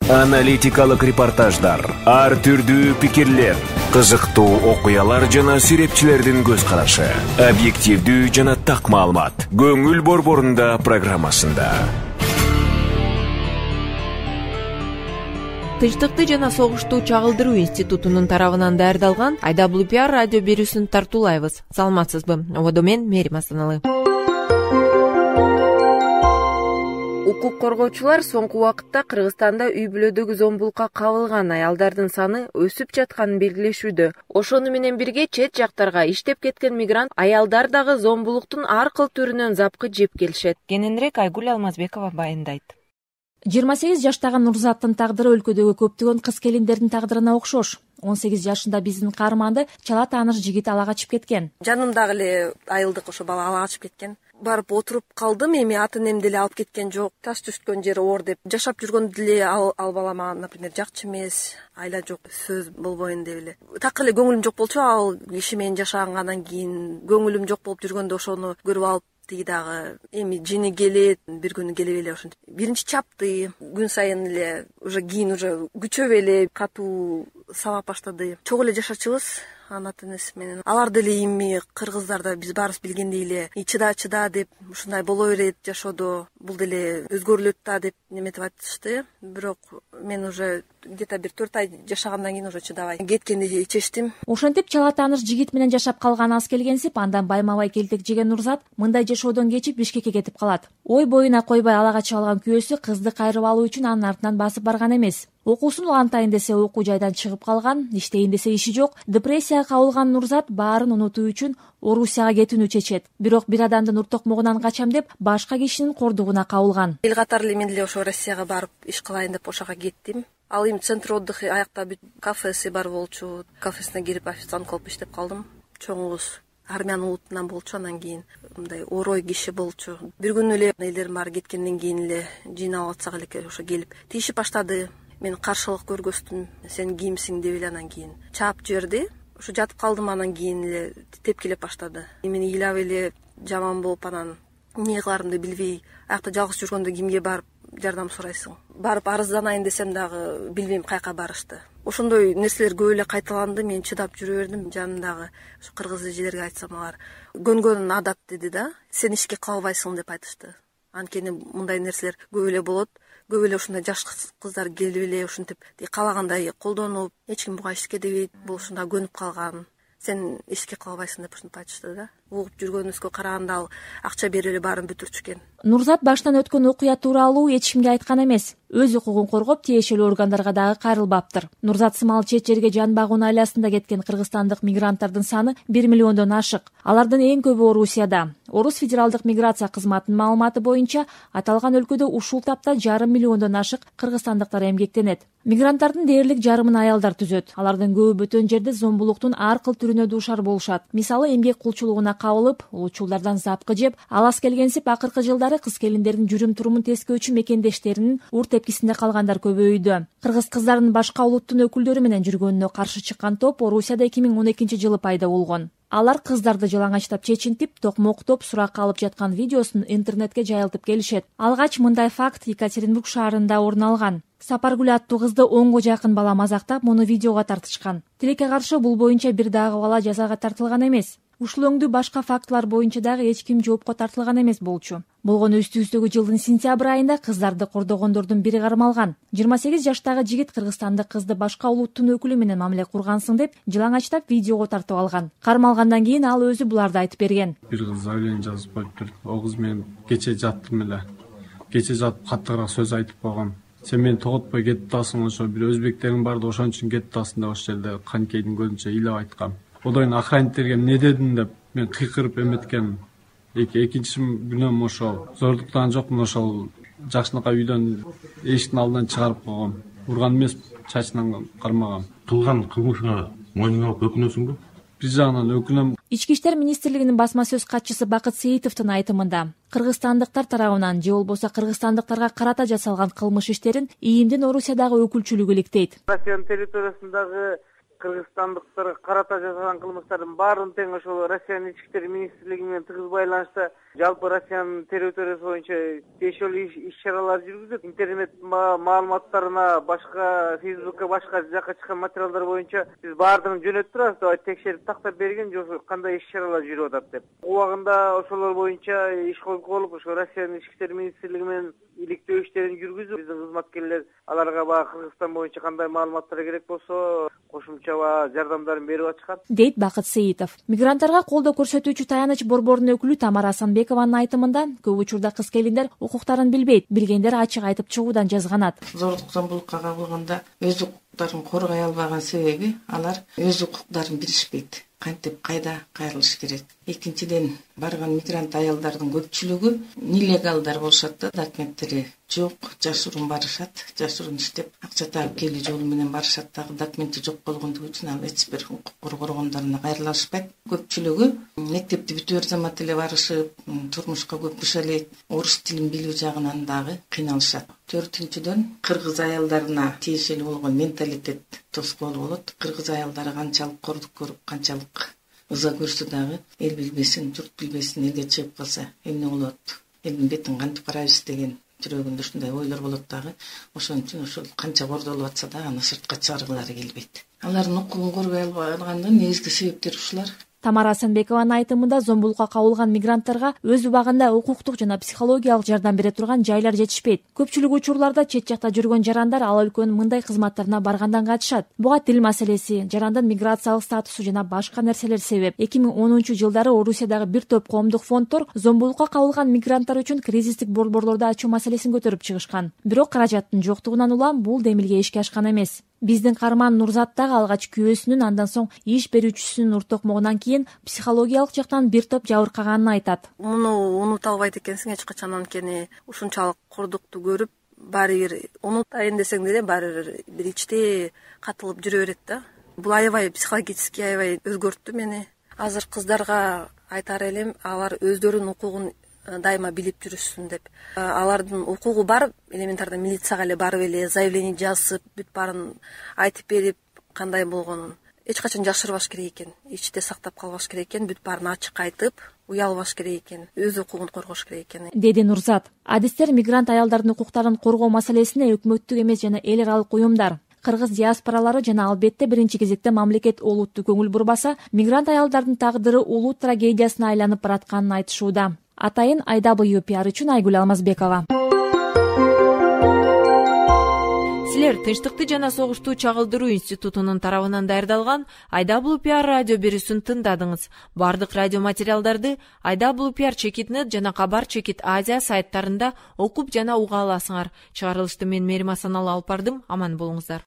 Аналитикалык репортаждар, ар түрдүү пикирлер, кызыктуу окуялар жана серепчилердин көз карашы, объективдүү жана так маалымат. Көңүл борборунда программасында. Тынчтыкты жана согушту чагылдыруу институтунун тарабынан даярдалган IWPR радио берүүсүн тартуулайбыз. Саламатсызбы? Ободо мен Мерим Астаналы. Укук коргоочулар соңку убакытта Кыргызстанда үй-бүлөдөгү зомбулукка кабылган аялдардын саны өсүп жатканын белгилешүүдө. Ошону менен бирге чет жактарга иштеп кеткен мигрант аялдар дагы зомбулуктун ар кыл түрүнөн запкы жеп келишет. Кененирээк Айгүл Алмазбекова баяндайт. 28 жаштагы Нурзаттын тагдыры өлкөдөгү көптөгөн кыз-келиндердин тагдырына окшош. 18 жашында биздин каарманды чала тааныш жигит ала качып кеткен. Жанымдагы эле айылдык ошо бала ала качып кеткен. Барып отуруп калдым, эми ата энем деле алып кеткен жок. Таш түшкөн жери оор деп жашап жүргөндө деле ал бала мага, например, жакчы эмес, айла жок, сөз болбойн деп эле. Так эле көңүлүм жок болчу, ал киши менен жашагандан кийин көңүлүм жок болуп жүргөндө ошону көрүп алып, тиги дагы эми жини келет, бир күнү келип эле ошентип биринчи чапты, күн сайын эле уже кийин уже күчөп эле катуу сабап баштады. Чогуу эле жашачубыз ата энеси менен. Алар деле эми кыргыздар да биз баарыбыз билгендей эле чыда деп, ушундай боло берет жашоодо, бул деле өзгөрүлөт да деп неметип айтышты. Бирок мен уже где-то бир 4 ай жашагандан кийин уже чыдабай кеткенди чечтим. Ошентип чала тааныш жигит менен жашап калган аз келгенсип, андан байма-бай келтек жеген Нурзат мындай жашоодон кечип Бишкекке кетип калат. Ой боюна койбой ала качып алган күйөөсү кызды кайрып алуу үчүн анын артынан басып барган эмес. Окуусун улантайын десе окуу жайдан чыгып калган, иштейин десе иши жок. Депрессияга кабылган Нурзат баарын унутуу үчүн Орусияга кетүүнү чечет. Бирок бир адамдын уртокмогунан качам деп башка кишинин кордугуна кабылган. Эл катары эле мен деле ошо Россияга барып иш кылайын деп ошого кеттим. Ал эми центр отдыха аякта бүт кафеси бар болчу. Кафесине кирип официант кылып иштеп калдым. Чоңубуз армян улутунан болчу, анан кийин мындай орой киши болчу. Бир күнү эле элдерим баары кеткенден кийин эле жыйнап атсак элеке ошо келип тийишип баштады. Мен каршылык көргөздүм, сен кимсиң деп эле анан кийин чаап жиберди. Ошо жатып калдым, анан кийин эле тепкилеп баштады. Мени ыйлап эле жаман болуп, анан эмне кыларымды билбей, аякта жалгыз жүргөндө кимге барып жардам сурайсың? Барып арызданайын десем дагы билбейм каяка барышты. Ошондой нерселер көп эле кайталанды. Мен чыдап жүрө бердим. Жанымдагы ушу кыргыз эжелерге айтсам, алар көнгөн адат деди да, сен ишке калбайсың деп айтышты. Анткени мындай нерселер көп эле болот. Көп эле ушундай жаш кыздар келип эле ушинтип каалагандай колдонуп, эч ким буга ишке дебейт, бул ушунда көнүп калган. Сен ишке калбайсың деп ушинтип айтышты да. Угуп жүргөнүбүзгө караганда ал акча берип эле баарын бүтүрчү экен. Нурзат баштан өткөн окуя тууралуу эч кимге айткан эмес. Өз укугун коргоп, тиешелүү органдарга дагы кайрылбаптыр. Нурзат сымал чет жерге жан багуу айласында кеткен кыргызстандык мигранттардын саны 1 миллиондон ашык. Алардын эң көбү Орусияда. Орус федералдык миграция кызматынын маалыматы боюнча, аталган өлкөдө ушул тапта 1,5 миллиондон ашык кыргызстандыктар эмгектенет. Мигранттардын дээрлик жарымын аялдар түзөт. Алардын көбү бөтөн жерде зомбулуктун ар кыл түрүнө дуушар болушат. Мисалы, эмгек кулчулугуна кабылып, улуучулдардан запкы жеп, алас келгенсип акыркы жылдары кыз-келиндердин жүрүм-турумун тескөөчү мекендештеринин ур тепкисинде калгандар көбөйдү. Кыргыз кыздарынын башка улуттун өкүлдөрү менен жүргөнүнө каршы чыккан топ Орусияда 2012 жылы пайда болгон. Алар кыздарды жалаңачтап чечинтип, токмоктоп, суракка алып жаткан видеосун интернетке жайылтып келишет. Алгач мындай факт Екатеринбург шаарында орун алган. Сапаргүл аттуу кызды 10го жакын бала мазактап, муну видеого тартышкан. Тилекке каршы бул боюнча бир дагы бала жазага тартылган эмес. Ушул өңдүү башка фактылар боюнча дагы эч ким жоопко тартылган эмес болчу. Болгону үстүбүздөгү жылдын сентябрь айында кыздарды кордогондордун бири кармалган. 28 жаштагы жигит кыргызстандык кызды башка улуттун өкүлү менен мамиле кургансың деп жалаңачтап видеого тартып алган. Кармалгандан кийин ал өзү буларды айтып берген. Бир кыз заявление жазып коюптур. О кыз мен кече жаттым эле. Кече жатып каттыраак сөз айтып койгом. Сен мени тоготпой кетип атасың, ошо бир өзбектериң бар да ошон үчүн кетип атасың деп ошол жерде канкейдин көзүнчө ыйлап айткам. Одойн охранниктерге эмне дедиң деп мен кыйкырып эметкем. Экинчи күнөм ошол зордуктан жокмун, ошол жакшынакай үйдөн эшиктин алдынан чыгарып койгом. Урган эмес, чачынан кармагам. Кылган кылмышыңа мойнуңа алып өкүнөсүңбү? Бир жагынан өкүнөм. Ички иштер министрлигинин басма сөз катчысы Бакыт Сейитовдун айтымында, кыргызстандыктар тарабынан же болбосо кыргызстандыктарга карата жасалган кылмыш иштерин ИИМдин Орусиядагы өкүлчүлүгү иликтейт. Россиянын территориясындагы кыргызстандыктарга карата жасалган кылмыштардын баарын тең ошол Россиянын ички иштер министрлиги менен тыгыз байланышта жалпы Россиянын территориясы боюнча тиешелүү иш-чаралар жүргүзүлөт. Интернет маалыматтарына, башка Facebookка, башка жакка чыккан материалдар боюнча биз баардыгын жөнөтүп турабыз деп текшерип тактап берген же кандай иш-чаралар жүрүп атат деп. Убагында ошолор боюнча иш колуп, ошо Россиянын ички иштер министрлиги менен иликтөө иштерин жүргүзүп, биздин кызматкерлер аларга баягы Кыргызстан боюнча кандай маалыматтар керек болсо, кошумча жардамдарын берип атышат, дейт Бакыт Сейитов. Мигранттарга колдоо көрсөтүүчү таяныч борборунун өкүлү Тамара Асанбекованын айтымында, көп учурда кыз келиндер укуктарын билбейт, билгендер ачык айтып чыгуудан жазганат. Зордук зомбулукка кабылганда өз укуктарын коргой албаган себеби алар өз укуктарын билишпейт. Кантип кайда кайрылыш керек. Экинчиден, барган мигрант аялдардын көпчүлүгү нелегалдар болушат да, документтери жок, жашыруун барышат, жашыруун иштеп, акча таап келүү жолу менен барышат, дагы документи жок болгондугу үчүн ал эч бир укук коргоо органдарына кайрыла алышпайт. Көпчүлүгү мектепти бүтүбөр замат эле барышып, турмушка көп кыша элек, орус тилин билүү жагынан дагы кыйналышат. Төртүнчүдөн, кыргыз аялдарына тиешелүү болгон менталитет тоскоолу болот. Кыргыз аялдары канчалык кордук көрүп, канчалык ыза көрсө дагы эл билбесин, журт билбесин, элге чыгып калса эмне болот, элдин бетин кантип карайбыз деген жүрөгүндө ушундай ойлор болот дагы. Ошон үчүн ошол канча кордолуп атса да аны сыртка чыгаргылары келбейт. Алардын укугун коргой албагандыгынын негизги себептери ушулар. Тамара Асанбекованын айтымында зомбулукка кабылган мигранттарга өз убагында укуктук жана психологиялык жардам бере турган жайлар жетишпейт. Көпчүлүк учурларда чет жакта жүргөн жарандар ал өлкөнүн мындай кызматтарына баргандан качышат. Буга тил маселеси, жарандын миграциялык статусу жана башка нерселер себеп. 2010-жылдары Орусиядагы бир топ коомдук фонддор зомбулукка кабылган мигранттар үчүн кризистик борборлорду ачуу маселесин көтөрүп чыгышкан. Бирок каражаттын жоктугунан улам бул демилге ишке ашкан эмес. Биздин Карман Нурзат дагы алгач күйөөсүнүн, андан соң иш берүүчүсүнүн уртокмогунан кийин психологиялык жактан бир топ жабыркаганын айтат. Муну унута албайт экенсиң эч качан, анткени ушунчалык кордукту көрүп, баары бир унутайын десең деле баары бир ичте катылып жүрө берет да. Бул аябай психологически аябай өзгөрттү мени. Азыр кыздарга айтар элем, алар өздөрүнүн укугун дайыма билип жүрүшсүн деп. Алардын укугу бар, элементарда милицияга эле барып эле заявление жазып, бүт баарын айтып берип, кандай болгонун эч качан жашырбаш керек экен, ичте сактап калбаш керек экен, бүт баарын ачык айтып, уялбаш керек экен, өз укугун коргош керек экен, деди Нурзат. Адистер мигрант аялдардын укуктарын коргоо маселесине өкмөттүк эмес жана эл аралык уюмдар, кыргыз диаспоралары жана албетте биринчи кезекте мамлекет олуттуу көңүл бурбаса, мигрант аялдардын тагдыры улуу трагедиясына айланып баратканын айтышууда. Атайын IWPR үчүн Айгүл Алмазбекова. Силер Тынчтыкты жана согушту чагылдыруу институтунун тарабынан даярдалган IWPR радио берүүсүн тыңдадыңыз. Бардык радио материалдарды IWPR.net жана Кабар Чекит Азия сайттарында окуп жана уга аласыңар. Чыгарылышты мен Мерим Асаналы алып бардым. Аман болуңуздар.